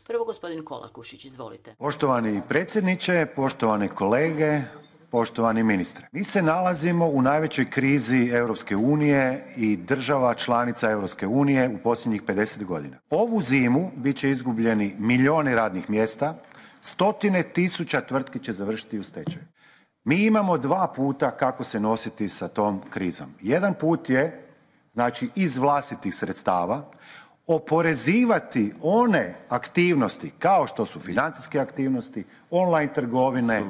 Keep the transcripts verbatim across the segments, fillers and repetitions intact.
Prvo gospodin Kolakušić, izvolite. Poštovani predsjedniče, poštovane kolege, poštovani ministre. Mi se nalazimo u najvećoj krizi Europske unije i država članica Europske unije u posljednjih pedeset godina. Ovu zimu bit će izgubljeni milijoni radnih mjesta, stotine tisuća tvrtki će završiti u stečaju. Mi imamo dva puta kako se nositi sa tom krizom. Jedan put je, znači, iz vlastitih sredstava, oporezivati one aktivnosti kao što su financijske aktivnosti, online trgovine,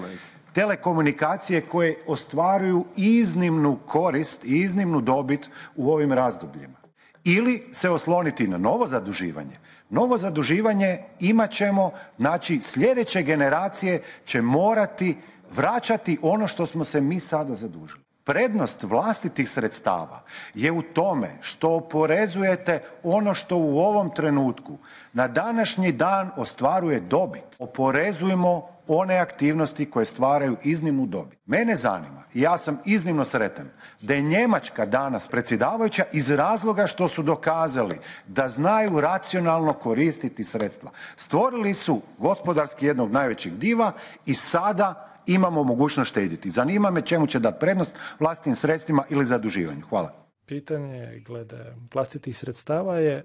telekomunikacije koje ostvaruju iznimnu korist i iznimnu dobit u ovim razdobljima. Ili se osloniti na novo zaduživanje. Novo zaduživanje imat ćemo, znači sljedeće generacije će morati vraćati ono što smo se mi sada zadužili. Prednost vlastitih sredstava je u tome što oporezujete ono što u ovom trenutku na današnji dan ostvaruje dobit. Oporezujemo one aktivnosti koje stvaraju iznimnu dobit. Mene zanima, i ja sam iznimno sretan, da je Njemačka danas predsjedavajuća iz razloga što su dokazali da znaju racionalno koristiti sredstva. Stvorili su gospodarski jednog najvećeg diva i sada imamo mogućnost štediti. Zanima me čemu će dati prednost vlastitim sredstvima ili zaduživanju. Hvala. Pitanje glede vlastitih sredstava je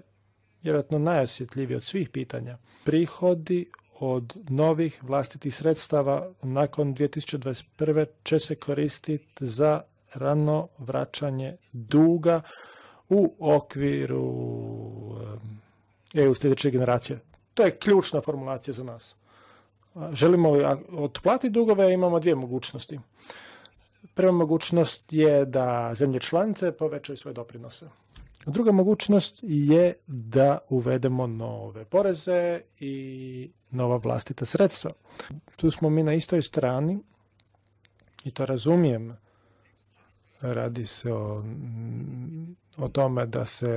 vjerojatno najosjetljivije od svih pitanja. Prihodi od novih vlastitih sredstava nakon dvije tisuće dvadeset prve će se koristiti za rano vraćanje duga u okviru E U sljedeće generacije. To je ključna formulacija za nas. Želimo li otplatiti dugove, imamo dvije mogućnosti. Prva mogućnost je da zemlje članice povećaju svoje doprinose. Druga mogućnost je da uvedemo nove poreze i nova vlastita sredstva. Tu smo mi na istoj strani i to razumijem. Radi se o, o tome da se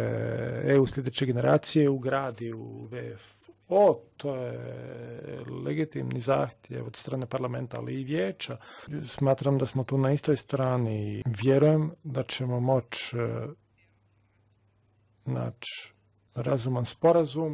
E U sljedeće generacije ugradi u V F O, to je legitimni zahtjev od strane parlamenta, ali i vijeća. Smatram da smo tu na istoj strani i vjerujem da ćemo moći naći razuman sporazum.